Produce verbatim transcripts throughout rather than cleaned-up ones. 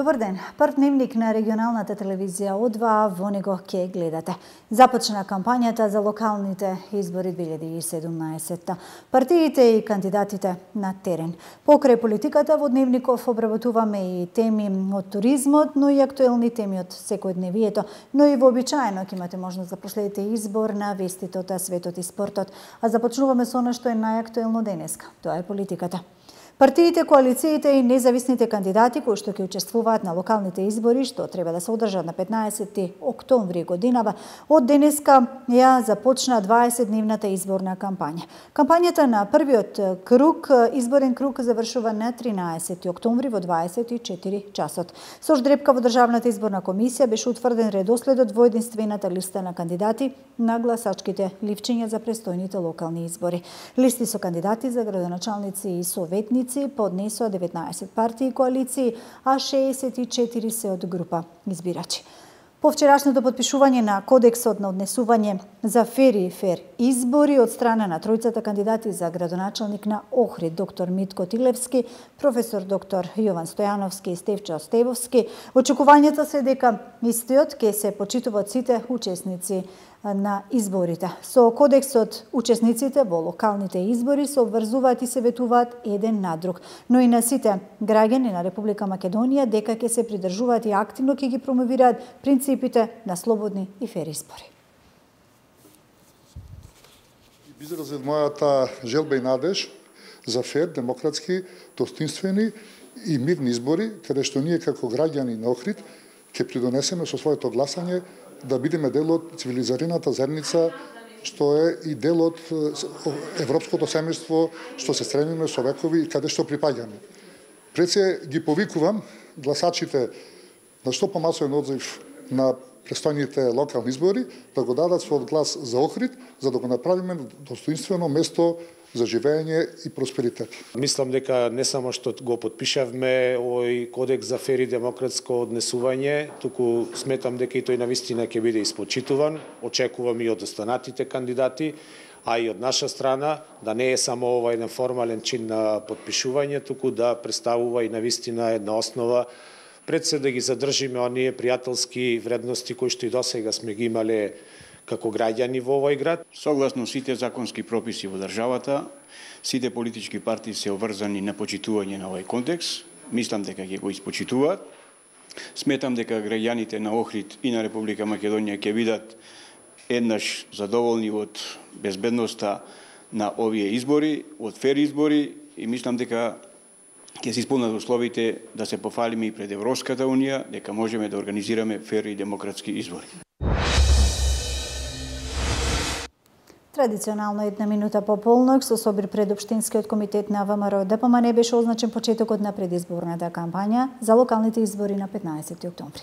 Добар ден. Прв дневник на регионалната телевизија О два, во него ќе гледате. Започна кампањата за локалните избори две илјади и седумнаесетта. Партиите и кандидатите на терен. Покрај политиката во дневников обработуваме и теми од туризмот, но и актуелни теми од секојдневието, но и вообичаено ќе имате можност да проследите избор на вестите од светот и спортот. А започнуваме со она што е најактуелно денеска. Тоа е политиката. Партиите, коалициите и независните кандидати кои што ќе учествуваат на локалните избори што треба да се одржат на петнаесети октомври годинава, од денеска ја започна дваесетдневната изборна кампања. Кампањата на првиот круг, изборен круг, завршува на тринаесети октомври во дваесет и четири часот. Со ждрепка во Државната изборна комисија беше утврден редоследот во единствената листа на кандидати на гласачките ливчиња за престојните локални избори. Листи со кандидати за градоначалници и советници поднесоа деветнаесет партии и коалиции, а шеесет и четири се од група избирачи. По вчерашното подпишување на Кодексот на однесување за фер и фер избори од страна на тројцата кандидати за градоначалник на Охрид, доктор Митко Тилевски, професор доктор Јован Стојановски и Стефчо Стевовски, очекувањата се дека истиот ќе се почитува од сите учесници на изборите. Со Кодексот учесниците во локалните избори се обврзуваат и се ветуваат еден на друг, но и на сите граѓани на Република Македонија дека ќе се придржуваат и активно ќе ги промовираат принципите на слободни и фер избори. Изразив мојата желба и надеж за фер, демократски, достоинствени и мирни избори, каде што ние како граѓани на Охрид ќе придонесеме со своето гласање да бидеме дел од цивилизираната заедница, што е и дел од европското семејство, што се стремиме со векови и каде што припаѓаме. Пред се ги повикувам гласачите на што помасовен одзив на престојните локални избори да го дадат својот глас за Охрид, за да го направиме достоинствено место за живење и просперитет. Мислам дека не само што го подпишавме овој кодекс за фер и демократско однесување, туку сметам дека и тој навистина ќе биде испочитуван. Очекувам и од останатите кандидати, а и од наша страна да не е само ова еден формален чин на подпишување, туку да представува и навистина една основа пред се да ги задржиме оние пријателски вредности кои што и досега сме ги имале како граѓани во овој град. Согласно сите законски прописи во државата, сите политички партии се обврзани на почитување на овој кодекс. Мислам дека ќе го испочитуваат. Сметам дека граѓаните на Охрид и на Република Македонија ќе бидат еднаш задоволни од безбедноста на овие избори, од фер избори, и мислам дека ќе се исполнат условите да се пофалиме и пред Европската унија дека можеме да организираме фер и демократски избори. Традиционално една минута по полнок со собир пред Општинскиот комитет на ВМРО Д П М Н беше означен почетокот на предизборната кампања за локалните избори на петнаесети октомври.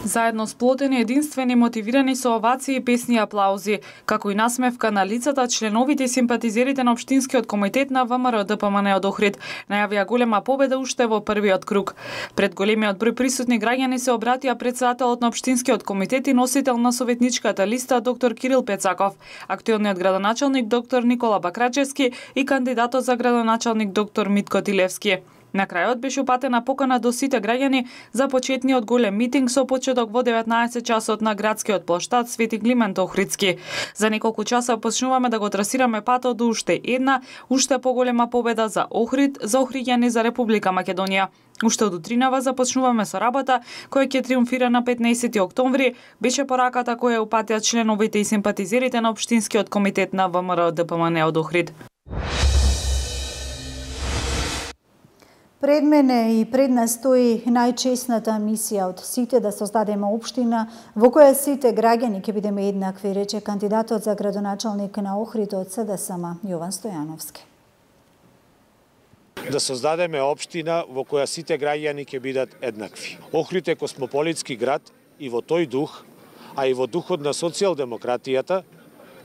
Заедно сплотени, единствени, мотивирани со овации, песни и аплаузи, како и насмевка на лицата, членовите и симпатизерите на Општинскиот комитет на ВМРО Д П М Н од Охрид најавија голема победа уште во првиот круг. Пред големиот број присутни граѓани се обратија претседателот на Општинскиот комитет и носител на советничката листа доктор Кирил Пецаков, актуелниот градоначалник доктор Никола Бакрачевски и кандидатот за градоначалник доктор Митко Тилевски. На крајот беше упатена покана до сите граѓани за почетниот голем митинг со почеток во деветнаесет часот на градскиот плоштад Свети Климент Охридски. За неколку часа почнуваме да го трасираме патот до уште една, уште поголема победа за Охрид, за охриѓани, за Република Македонија. Уште од утринава започнуваме со работа која ќе триумфира на петнаесети октомври, беше пораката која упатија членовите и симпатизерите на Општинскиот комитет на ВМРО Д П М Н од Охрид. Пред мене и пред нас стои најчесната мисија од сите да создадеме општина во која сите граѓани ќе бидеме еднакви, рече кандидатот за градоначалник на Охрид од С Д С М Јован Стојановски. Да создадеме општина во која сите граѓани ќе бидат еднакви. Охрид е космополитски град и во тој дух, а и во духот на социјалдемократијата,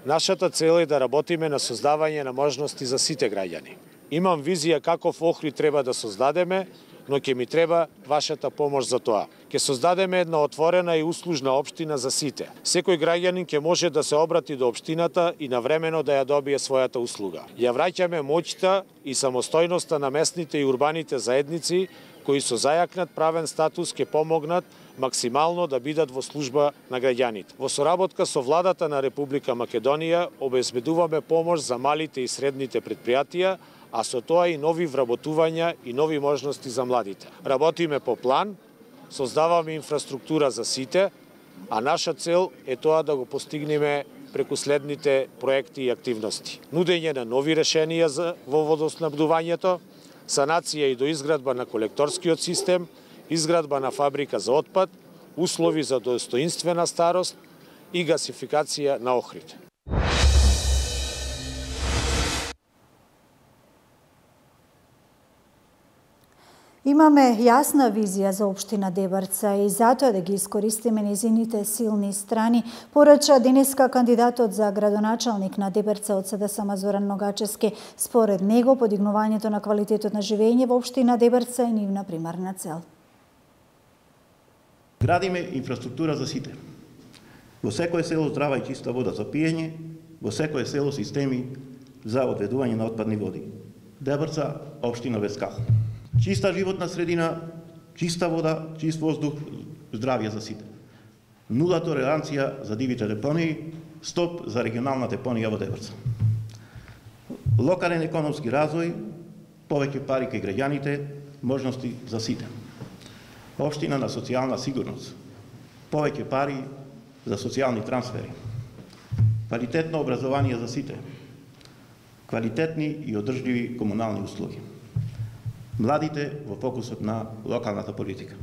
нашата цел е да работиме на создавање на можности за сите граѓани. Имам визија каков Охрид треба да создадеме, но ќе ми треба вашата помош за тоа. Ќе создадеме една отворена и услужна општина за сите. Секој граѓанин ќе може да се обрати до општината и навремено да ја добие својата услуга. Ја враќаме моќта и самостојноста на местните и урбаните заедници кои со зајакнат правен статус ќе помогнат максимално да бидат во служба на граѓаните. Во соработка со владата на Република Македонија обезбедуваме помош за малите и средните предпријатија, а со тоа и нови вработувања и нови можности за младите. Работиме по план, создаваме инфраструктура за сите, а наша цел е тоа да го постигнеме преку следните проекти и активности. Нудење на нови решенија за во водоснабдувањето, санација и доизградба на колекторскиот систем, изградба на фабрика за отпад, услови за достоинствена старост и гасификација на Охрид. Имаме јасна визија за општина Дебрца и затоа да ги искористиме незините силни страни, порача денеска кандидатот за градоначалник на Дебрца од СДСМ Зоран Ногачевски. Според него, подигнувањето на квалитетот на живење во општина Дебрца е нивна примарна цел. Градиме инфраструктура за сите. Во секое село здрава и чиста вода за пиење, во секое село системи за одведување на отпадни води. Дебрца, општина без кал. Чиста животна средина, чиста вода, чист воздух, здравје за сите. Нула толеранција за дивите депонии, стоп за регионална депонија во Дебрца. Локален економски развој, повеќе пари кај граѓаните, можности за сите. Општина на социјална сигурност, повеќе пари за социјални трансфери. Квалитетно образование за сите. Квалитетни и одржливи комунални услуги. Младите во фокусот на локалната политика.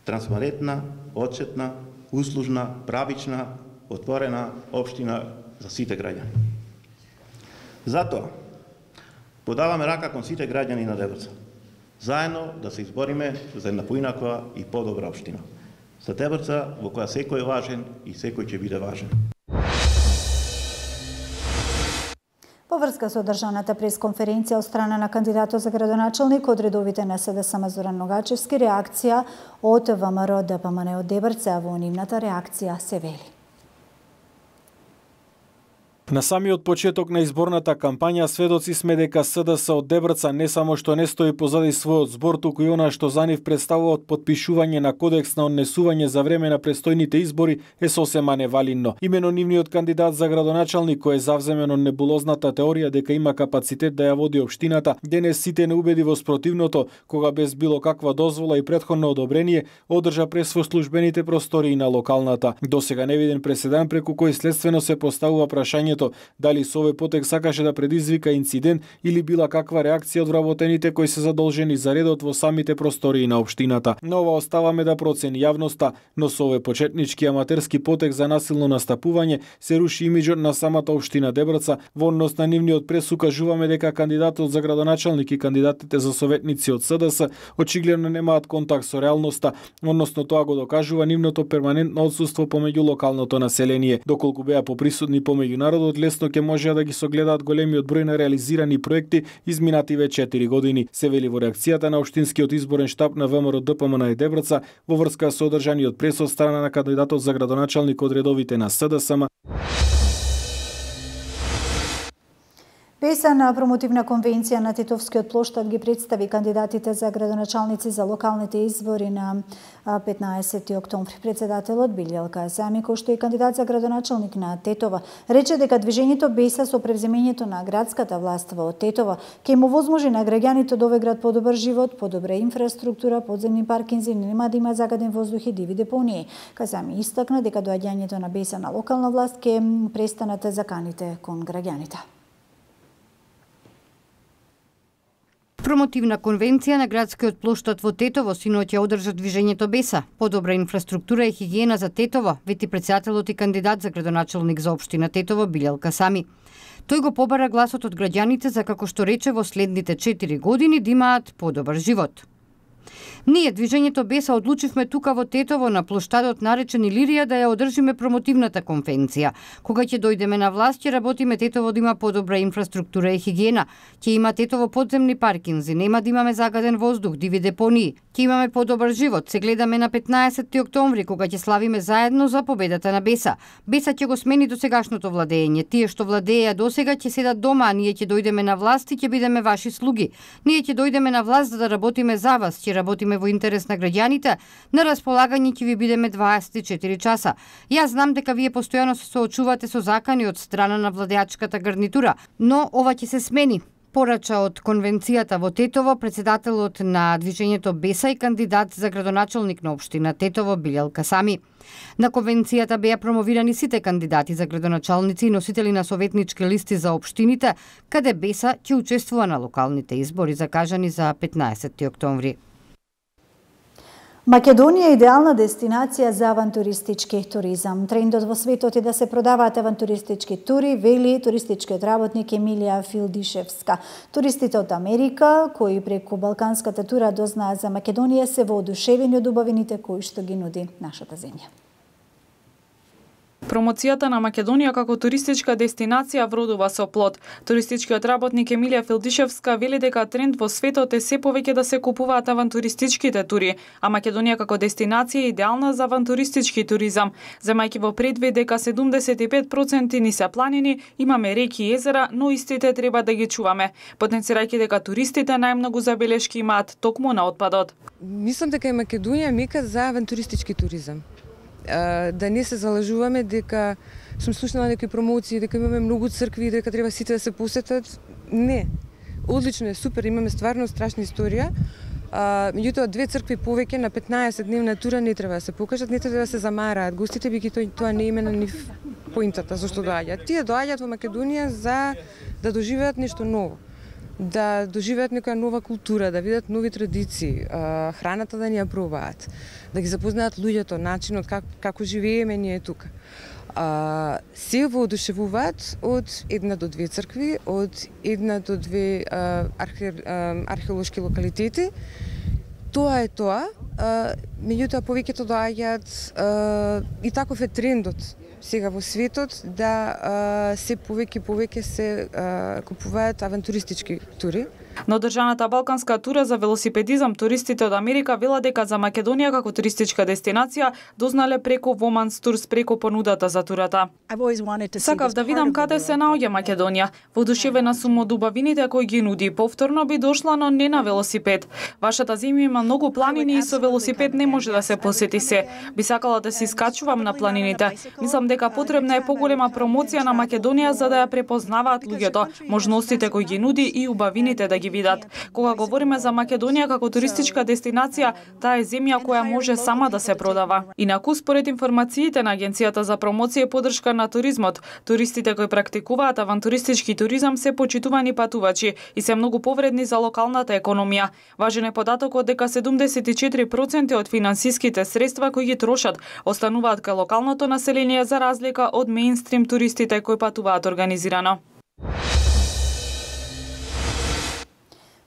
Транспарентна, отчетна, услужна, правична, отворена општина за сите граѓани. Затоа, подаваме рака кон сите граѓани на Дебрца. Заедно да се избориме за една поинаква и подобра општина. За Дебрца во која секој е важен и секој ќе биде важен. По врска со одржаната пресконференција од страна на кандидатот за градоначалник од редовите на СДСМ Зоран Ногачевски, реакција од ВМРО ДПМН од Дебрца, во нивната реакција се вели. На самиот почеток на изборната кампања сведоци сме дека СДС од Дебрца не само што не стои позади својот збор, туку и она што за нив представуваат подпишување на кодекс на однесување за време на престојните избори е сосема невалидно. Имено нивниот кандидат за градоначалник, кој е завземено небулозната теорија дека има капацитет да ја води општината, денес сите не убеди во спротивното, кога без било каква дозвола и претходно одобрение одржа прес во службените простории на локалната. Досега не виден преседан преку кој следствено се поставува прашањето дали со овој потек сакаше да предизвика инцидент или била каква реакција од вработените кои се задолжени за редот во самите простории на општината. Но ова оставаме да процени јавноста, но со овој почетнички аматерски потек за насилно настапување се руши имиџот на самата општина Дебрца. Во однос на нивниот прес укажуваме дека кандидатот за градоначалник и кандидатите за советници од СДС очигледно немаат контакт со реалноста, односно тоа го докажува нивното перманентно отсуство помеѓу локалното население. Доколку беа поприсутни помеѓу народот, лесно ќе можеа да ги согледаат големиот број на реализирани проекти изминативе четири години, се вели во реакцијата на општинскиот изборен штаб на ВМРО ДПМН Дебрца во врска со одржаниот прес од страна на кандидатот за градоначалник од редовите на СДСМ. Песана промотивна конвенција на Тетовскиот плоштад ги представи кандидатите за градоначалници за локалните избори на петнаесети октомври. Председателот Билјалка Зами, кој што е кандидат за градоначалник на Тетова, рече дека движењето Беса со превземењето на градската власт во Тетова ќе му возможи на граѓаните од овој град подобар живот, подобра инфраструктура, подземни паркинзи, нема да има загаден воздух и диви депонии. Казами истакна дека доаѓањето на Беса на локална власт ќе престанат заканите кон граѓаните. Промотивна конвенција на градскиот плоштад во Тетово синоќа одржа движењето Беса. Подобра инфраструктура и хигиена за Тетово, вети председателот и кандидат за градоначалник за општина Тетово Билјалка Сами. Тој го побара гласот од граѓаните за, како што рече, во следните четири години да имаат подобар живот. Ние, Движењето Беса, одлучивме тука во Тетово на плоштадот наречен Илирија да ја одржиме промотивната конвенција. Кога ќе дојдеме на власт, ќе работиме Тетово да има подобра инфраструктура и хигиена. Ќе има Тетово подземни паркинзи, нема да имаме загаден воздух, диви депонии. Ќе имаме подобар живот. Се гледаме на петнаесетти октомври, кога ќе славиме заедно за победата на Беса. Беса ќе го смени досегашното владење. Тие што владееја досега ќе седат дома, а ние ќе дојдеме на власт и ќе бидеме ваши слуги. Ние ќе дојдеме на власт за да работиме за вас, ќе работиме во интерес на граѓаните, на располагање ќе ви бидеме дваесет и четири часа. Јас знам дека вие постојано се соочувате со закани од страна на владеачката гарнитура, но ова ќе се смени. Порача од конвенцијата во Тетово председателот на Движењето Беса и кандидат за градоначалник на општина Тетово Билјал Касами. На конвенцијата беа промовирани сите кандидати за градоначалници и носители на советнички листи за општините, каде Беса ќе учествува на локалните избори закажани за петнаесетти октомври. Македонија е идеална дестинација за авантуристички туризам. Трендот во светот е да се продаваат авантуристички тури, вели туристичкиот работник Емилија Филдишевска. Туристите од Америка, кои преку балканската тура дознаат за Македонија, се воодушевени од убавините кои што ги нуди нашата земја. Промоцијата на Македонија како туристичка дестинација вродува со плод. Туристичкиот работник Емилија Филдишевска вели дека тренд во светот е се повеќе да се купуваат авантуристичките тури, а Македонија како дестинација е идеална за авантуристички туризам. Земајќи во предвид дека седумдесет и пет проценти ни се планини, имаме реки и езера, но истите треба да ги чуваме, потенцирајќи дека туристите најмногу забелешки имаат токму на отпадот. Мислам дека е Македонија мека за авантуристички туризам. Да не се залажуваме дека сум слушнала некои промоции, дека имаме многу цркви, дека треба сите да се посетат. Не. Одлично е, супер, имаме стварно страшна историја. А, меѓутоа, две цркви повеќе на петнаесет дневна тура не треба да се покажат, не треба да се замараат гостите, бидејќи тоа не име на нив поинтата зашто доаѓаат. Тие доаѓаат во Македонија за да доживеат нешто ново, да доживеат некоја нова култура, да видат нови традиции, храната да ни ја пробаат, да ги запознаат луѓето, начинот как, како живееме ние тука. А, се воодушевуваат од една до две цркви, од една до две а, архе, а, археолошки локалитети. Тоа е тоа, а, меѓутоа повеќето доаѓаат и таков е трендот сега во светот да а, се повеќе повеќе се а, купуваат авантуристички тури. На одржаната балканска тура за велосипедизам туристите од Америка велат дека за Македонија како туристичка дестинација дознале преку Women's Tours преку понудата за турата. Сакав да видам каде се наоѓа Македонија. Воодушевена сум од убавините кои ги нуди. Повторно би дошла, но не на велосипед. Вашата земја има многу планини и со велосипед не може да се посети се. Би сакала да се искачувам на планините. Мислам дека потребна е поголема промоција на Македонија за да ја препознаваат луѓето, можностите кои ги нуди и убавините да ги видат. Кога говориме за Македонија како туристичка дестинација, таа е земја која може сама да се продава. Инаку, според информациите на Агенцијата за промоција и поддршка на туризмот, туристите кои практикуваат авантуристички туризам се почитувани патувачи и се многу повредни за локалната економија. Важен е податокот дека седумдесет и четири проценти од финансиските средства кои ги трошат остануваат кај локалното население за разлика од меинстрим туристите кои патуваат организирано.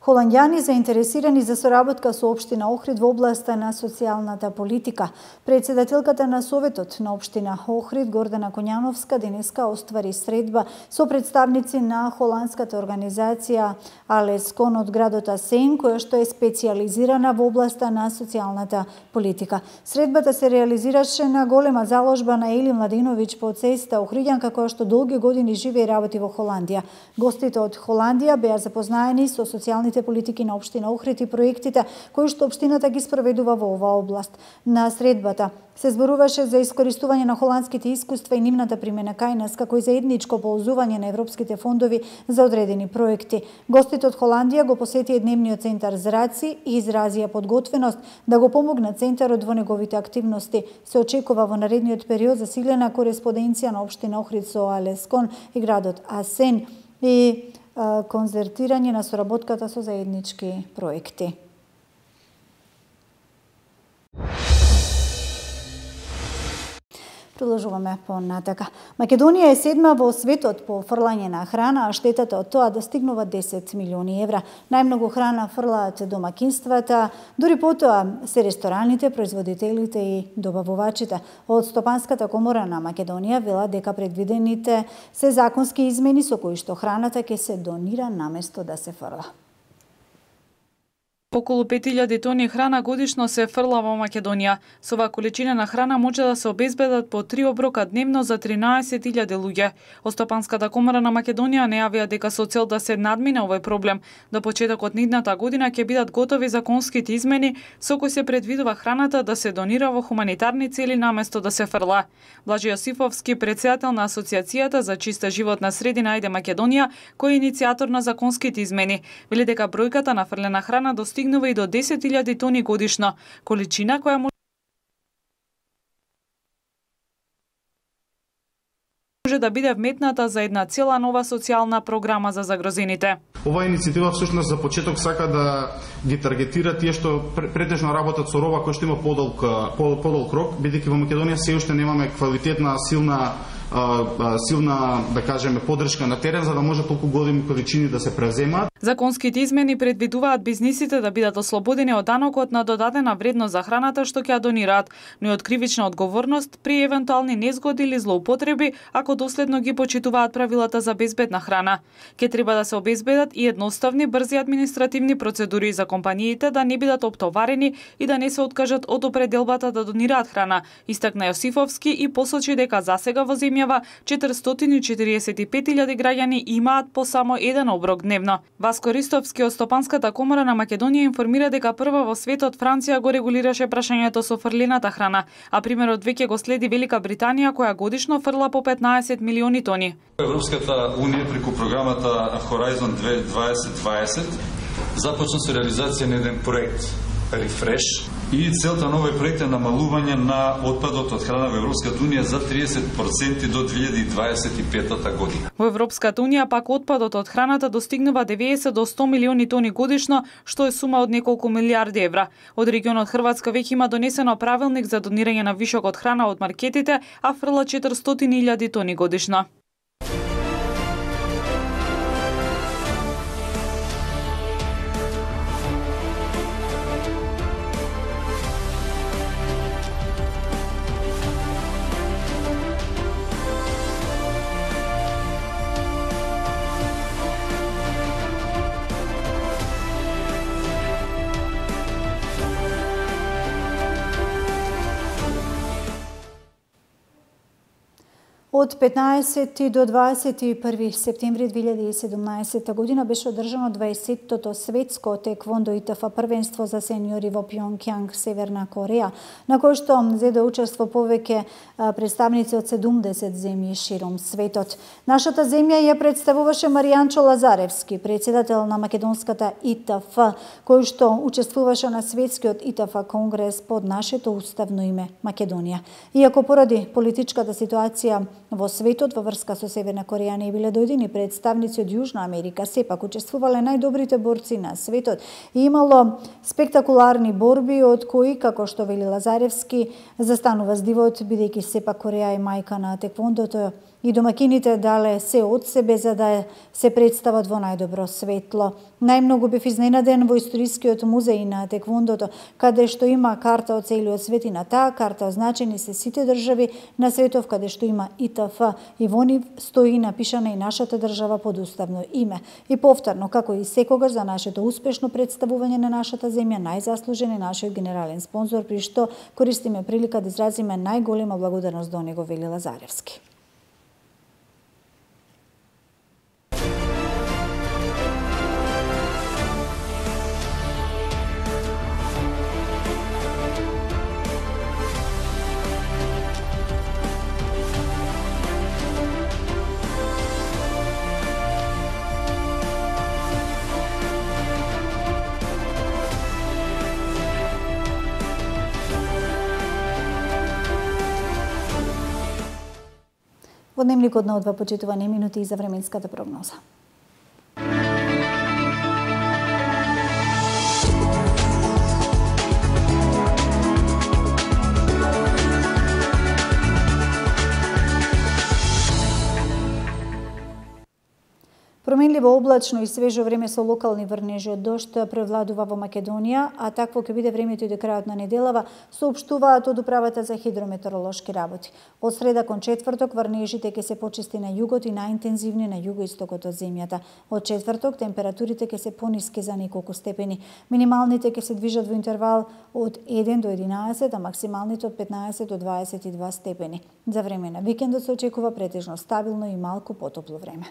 Холанѓани заинтересирани за соработка со општина Охрид во областа на социјалната политика. Председателката на Советот на општина Охрид, Гордана Коњановска, денеска оствари средба со представници на холандската организација Алескон од градот Асен, која што е специјализирана во областа на социјалната политика. Средбата се реализираше на голема заложба на Ели Младиновиќ по цеста Охриѓанка, која што долги години живее и работи во Холандија. Гостите од Холандија беа запознаени со социјалните политики на општина Охрид и проектите кои што општината ги спроведува во оваа област. На средбата се зборуваше за искористување на холандските искуства и нивната примена кај нас, како и заедничко ползување на европските фондови за одредени проекти. Гостите од Холандија го посетија дневниот центар Зраци и изразија подготвеност да го помогнат центарот во неговите активности. Се очекува во наредниот период засилена кореспонденција на општина Охрид со Алескон и градот Асен и концертирање на соработката со заеднички проекти. Продолжуваме понатака. Македонија е седма во светот по фрлање на храна, а штетата од тоа достигнува десет милиони евра. Најмногу храна фрлаат домакинствата, дури потоа се рестораните, производителите и добавувачите. Од Стопанската комора на Македонија велат дека предвидените се законски измени со кои што храната ќе се донира наместо да се фрла. Околу пет илјади тони храна годишно се фрла во Македонија. Со оваа количина на храна може да се обезбедат по три оброка дневно за тринаесет илјади луѓе. Од Стопанската комора на Македонија најавија дека со цел да се надмине овој проблем, до почетокот на идната година ќе бидат готови законските измени со кои се предвидува храната да се донира во хуманитарни цели наместо да се фрла. Блажи Јосифовски, претседател на Асоциацијата за чиста животна средина Ајде Македонија, кој е иницијатор на законските измени, вели дека бројката на фрлена храна достигнува и до десет илјади тони годишно, количина која може да биде вметната за една цела нова социјална програма за загрозените. Оваа иницијатива всушност за почеток сака да ги таргетира тие што претежно работат со роба која што има подолг подолг рок, бидејќи во Македонија се уште немаме квалитетна, силна силна, да кажеме, поддршка на терен за да може толку големи количини да се преземаат. Законските измени предвидуваат бизнисите да бидат ослободени од данокот на додадена вредност за храната што ќе ја донираат, но и од кривична одговорност при евентуални незгоди или злоупотреби ако доследно ги почитуваат правилата за безбедна храна. Ке треба да се обезбедат и едноставни, брзи административни процедури за компаниите да не бидат оптоварени и да не се откажат од определбата да донираат храна, истакна Јосифовски и посочи дека засега во земјава четиристотини и четиридесет и пет илјади граѓани имаат по само еден оброк дневно. Васко Ристовски од Стопанската комора на Македонија информира дека прва во светот Франција го регулираше прашањето со фрлената храна, а примерот веќе го следи Велика Британија која годишно фрла по петнаесет милиони тони. Европската унија преку програмата Horizon дваесет дваесет започна со реализација на еден проект Refresh и целта на овој проект е намалување на отпадот од храна во Европската унија за триесет проценти до две илјади дваесет и пета година. Во Европската унија пак отпадот од храната достигнува деветдесет до сто милиони тони годишно, што е сума од неколку милиарди евра. Од регионот Хрватска веќе има донесено правилник за донирање на вишок од храна од маркетите, а фрла четиристотини илјади тони годишно. Од петнаесети до дваесет и први септември две илјади и седумнаесета година беше одржано дваесеттото светско теквондо ИТФ првенство за сениори во Пјонкјанг, Северна Кореја, на кој што зеде учество повеќе представници од седумдесет земји широм светот. Нашата земја ја представуваше Маријанчо Лазаревски, претседател на македонската ИТФ, кој што учествуваше на светскиот ИТФ конгрес под нашето уставно име Македонија. Иако поради политичката ситуација во светот во врска со Северна Кореја не биле дојдени представници од Јужна Америка, сепак учествувале најдобрите борци на светот и имало спектакуларни борби од кои, како што вели Лазаревски, застанува здивот, бидејќи сепак Кореја е мајка на теквондото и домакините дале се од себе за да се представат во најдобро светло. Најмногу бев изненаден во историскиот музеј на теквондото, каде што има карта од целиот свет и на таа карта означени се сите држави на светов каде што има ИТФ и во нив стои напишана и нашата држава под уставно име. И повторно, како и секогаш за нашето успешно представување на нашата земја, најзаслужен е нашиот генерален спонзор, при што користиме прилика да изразиме најголема благодарност до него, вели Лазаревски. Во дневникот на одва почитувани минути и за временската прогноза. Променливо облачно и свежо време со локални врнежи од дожд превладува во Македонија, а такво ќе биде времето и до крајот на неделава, соопштуваат од Управата за хидрометеоролошки работи. Од среда кон четврток врнежите ќе се почисти на југот и најинтензивни на југоистокот од земјата. Од четврток температурите ќе се пониски за неколку степени. Минималните ќе се движат во интервал од еден до единаесет, а максималните од петнаесет до дваесет и два степени. За време на викендот се очекува претежно стабилно и малку потопло време.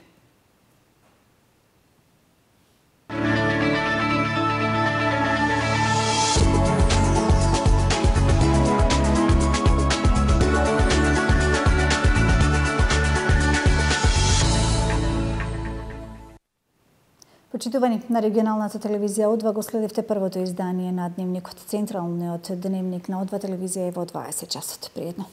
Почитувани, на регионалната телевизија О два го следевте првото издание на Дневникот. Централниот Дневник на О два телевизија е во дваесет часот. Пријатно.